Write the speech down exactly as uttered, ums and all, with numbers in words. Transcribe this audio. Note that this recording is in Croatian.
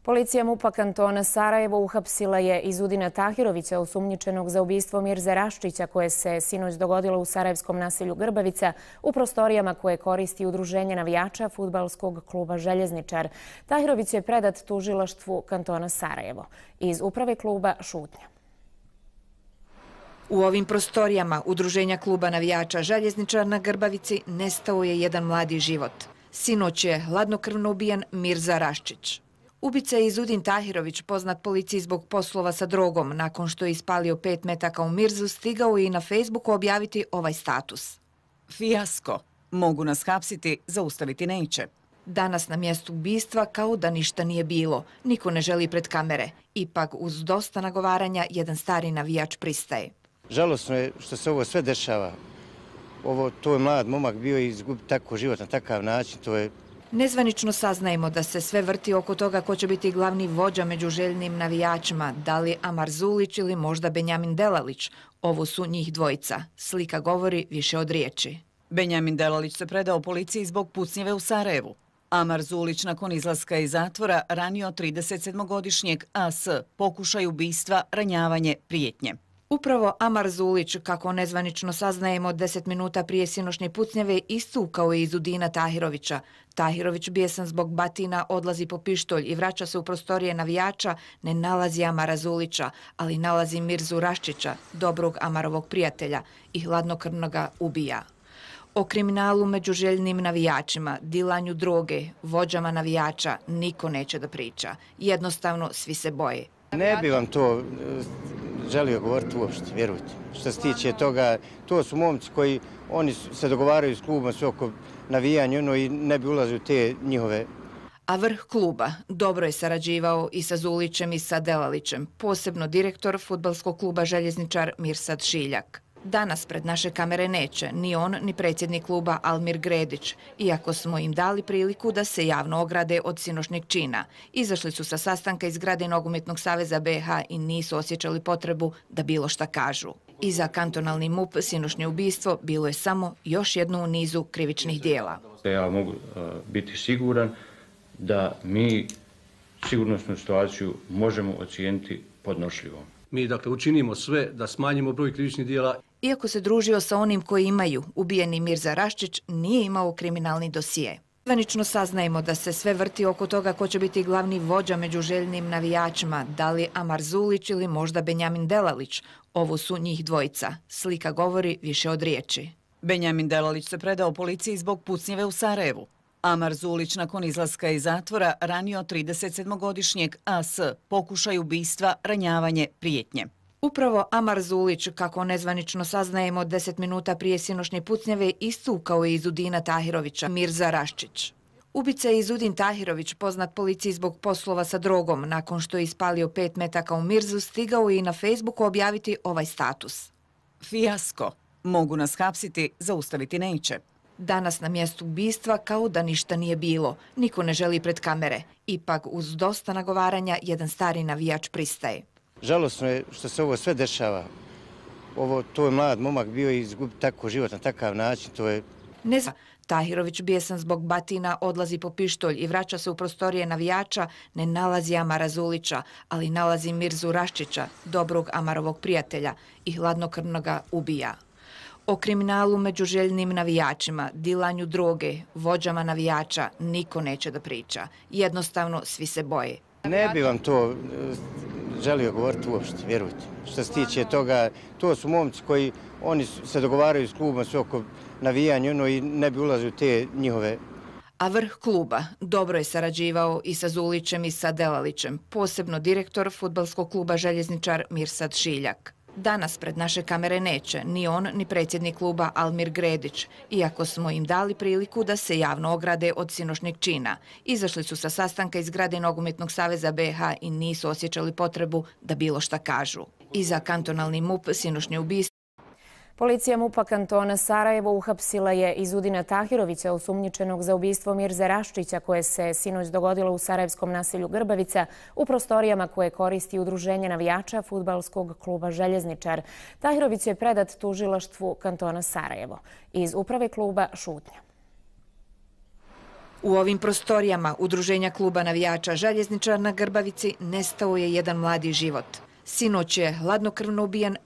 Policija MUP-a kantona Sarajevo uhapsila je Izudina Tahirovića, osumnjičenog za ubistvo Mirze Raščića, koje se sinoć dogodilo u sarajevskom naselju Grbavica u prostorijama koje koristi udruženje navijača fudbalskog kluba Željezničar. Tahirović je predat tužilaštvu kantona Sarajevo. Iz uprave kluba šutnja. U ovim prostorijama udruženja kluba navijača Željezničar na Grbavici nestao je jedan mladi život. Sinoć je hladnokrvno ubijen Mirza Raščić. Ubica je Izudin Tahirović, poznat policiji zbog poslova sa drogom. Nakon što je ispalio pet metaka u Mirzu, stigao je i na Facebooku objaviti ovaj status. Fijasko. Mogu nas hapsiti, zaustaviti neće. Danas na mjestu ubistva kao da ništa nije bilo. Niko ne želi pred kamere. Ipak uz dosta nagovaranja jedan stari navijač pristaje. Žalosno je što se ovo sve dešava. Ovo, to je mlad momak bio i izgubiti tako život na takav način, to je... Nezvanično saznajemo da se sve vrti oko toga ko će biti glavni vođa među željnim navijačima, da li Amar Zulić ili možda Benjamin Delalić. Ovo su njih dvojica. Slika govori više od riječi. Benjamin Delalić se predao policiji zbog pucnjeve u Sarajevu. Amar Zulić nakon izlaska iz zatvora ranio tridesetsedmogodišnjeg A S, pokušaj ubistva, ranjavanje, prijetnje. Upravo Amar Zulić, kako nezvanično saznajemo, deset minuta prije sinošnje pucnjeve istukao je Izudina Tahirovića. Tahirović, bijesan zbog batina, odlazi po pištolj i vraća se u prostorije navijača, ne nalazi Amara Zulića, ali nalazi Mirzu Raščića, dobrog Amarovog prijatelja, i hladnokrvno ga ubija. O kriminalu među željnim navijačima, dilanju droge, vođama navijača niko neće da priča. Jednostavno svi se boje. Ne bi vam to želio govoriti uopšte, vjerujte. Što se tiče toga, to su momci koji oni se dogovaraju s klubom sve oko navijanja ono, i ne bi ulazili u te njihove. A vrh kluba dobro je sarađivao i sa Zulićem i sa Delalićem, posebno direktor fudbalskog kluba Željezničar Mirsad Šiljak. Danas pred naše kamere neće ni on ni predsjednik kluba Almir Gredić, iako smo im dali priliku da se javno ograde od sinošnjeg čina. Izašli su sa sastanka iz zgrade Nogometnog saveza B i H i nisu osjećali potrebu da bilo šta kažu. I za kantonalni MUP sinošnje ubistvo bilo je samo još jedno u nizu krivičnih dijela. Ja mogu biti siguran da mi sigurnosnu situaciju možemo ocijeniti podnošljivom. Mi dakle učinimo sve da smanjimo broj krivičnih dijela. Iako se družio sa onim koji imaju, ubijeni Mirza Raščić nije imao kriminalni dosije. Zvanično saznajemo da se sve vrti oko toga ko će biti glavni vođa među željnim navijačima, da li Amar Zulić ili možda Benjamin Delalić. Ovo su njih dvojica. Slika govori više od riječi. Benjamin Delalić se predao policiji zbog pucnjeve u Sarajevu. Amar Zulić nakon izlaska iz zatvora ranio tridesetsedmogodišnjeg A S, pokušaj ubistva, ranjavanje, prijetnje. Upravo Amar Zulić, kako nezvanično saznajemo, deset minuta prije sinošnje pucnjeve istukao je Izudina Tahirovića, Mirza Raščić. Ubica je Izudin Tahirović, poznat policiji zbog poslova sa drogom. Nakon što je ispalio pet metaka u Mirzu, stigao je i na Facebooku objaviti ovaj status. Fijasko. Mogu nas hapsiti, zaustaviti neće. Danas na mjestu ubistva kao da ništa nije bilo. Niko ne želi pred kamere. Ipak uz dosta nagovaranja jedan stari navijač pristaje. Žalosno je što se ovo sve dešava. Ovo, to je mlad momak bio i izgubiti tako život na takav način, to je... Nezva. Tahirović, bijesan zbog batina, odlazi po pištolj i vraća se u prostorije navijača, ne nalazi Amara Zulića, ali nalazi Mirzu Raščića, dobrog Amarovog prijatelja, i hladnokrvno ga ubija. O kriminalu među željnim navijačima, dilanju droge, vođama navijača niko neće da priča. Jednostavno svi se boje. Ne bi vam to želio govoriti uopšte, vjerujte. Što se tiče toga, to su momci koji oni se dogovaraju s klubom sve oko navijanja ono, i ne bi ulazili u te njihove. A vrh kluba dobro je sarađivao i sa Zulićem i sa Delalićem, posebno direktor fudbalskog kluba Željezničar Mirsad Šiljak. Danas pred naše kamere neće ni on ni predsjednik kluba Almir Gredić, iako smo im dali priliku da se javno ograde od sinošnjeg čina. Izašli su sa sastanka iz zgrade Nogometnog saveza B i H i nisu osjećali potrebu da bilo šta kažu. I za kantonalni MUP sinošnje ubistvo. Policija MUP-a kantona Sarajevo uhapsila je Izudina Tahirovića, osumnjičenog za ubistvo Mirze Raščića, koje se sinoć dogodilo u sarajevskom naselju Grbavica u prostorijama koje koristi udruženje navijača fudbalskog kluba Željezničar. Tahirović je predat tužilaštvu kantona Sarajevo. Iz uprave kluba šutnja. U ovim prostorijama Udruženja kluba navijača Željezničar na Grbavici nestao je jedan mladi život. Sinoć je hladnokrvno ubijen